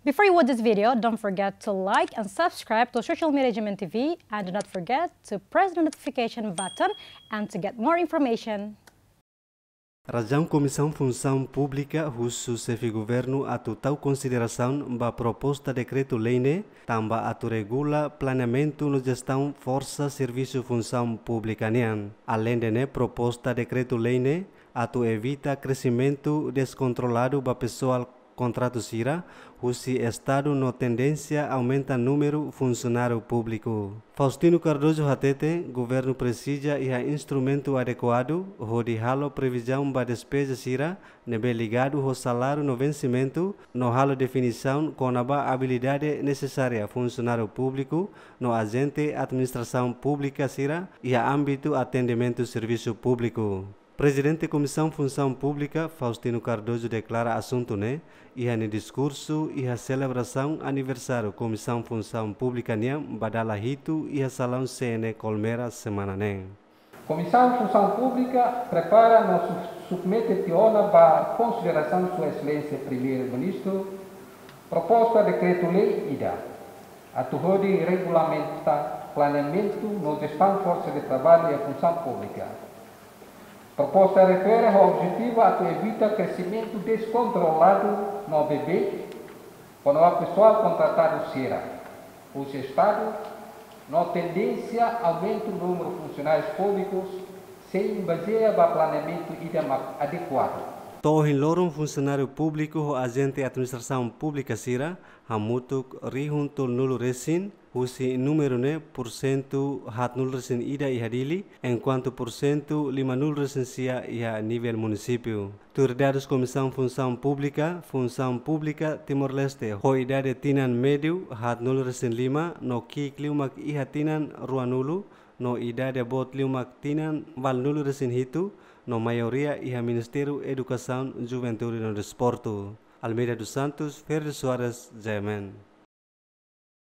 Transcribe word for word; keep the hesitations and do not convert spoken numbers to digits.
Before you watch this video, don't forget to like and subscribe to social media G M N T V, and do not forget to press the notification button and to get more information. Razaun Komisaun Funsaun Públika husu Xefe Governu atu tau konsiderasaun ba proposta dekretu-lei ne'e, tanba atu regula planeamentu no jestaun forsa servisu funsaun públika nian. Aleinde ne'e, proposta dekretu-lei ne'e atu evita kresimentu deskontroladu ba pesoál kontratu sira husi Estadu no tendénsia aumenta númeru funsionáriu públiku. Faustino Cardoso hatete, governu presiza iha instrumentu adekuadu hodi halo previzaun ba despeza sira ne'ebé ligadu ho saláriu no vensimentu, no halo definisaun kona-ba abilidade nesesária funsionáriu públiku no ajente administrasaun públika sira iha ámbitu atendimentu servisu públiku. Prezidente Komisaun Funsaun Públika, Faustino Cardoso, deklara asuntu ne'e iha nia diskursu iha selebrasaun aniversáriu Komisaun Funsaun Públika nian ba dala hitu iha salaun C N Colmera semana ne'e. Komisaun Funsaun Públika prepara no su-, submete tiha ona ba konsiderasaun Sua Exelénsia Primeiru-Ministru proposta dekretu-lei ida atu hodi regulamenta planeamentu no jestaun forsa de traballu iha funsaun públika. Proposta refere ho objetivu atu evita kresimentu deskontroladu no beibeik kona-ba pesoál kontratadu sira husi Estadu, no tendénsia aumentu númeru funsionárius públikus sein bazeia ba planeamentu ida mak adekuadu. To'o ohin loron, funsionáriu públiku ho ajente administrasaun públika sira hamutuk rihun tolunulu resin, husi númeru ne'e pursentu haatnulu resin ida iha Dili, enkuantu pursentu limanulu resin sia iha nivel munisípiu. Tuir dadus Komisaun Funsaun Públika, Funsaun Públika Timor-Leste ho idade tinan médiu haatnulu resin lima no ki'ik liu mak iha tinan ruanulu, no idade boot liu mak tinan ualunulu resin hitu, no maioria iha Ministériu Edukasaun, Juventude no Desportu. Almeida dos Santos, Ferdi Soares, J M N.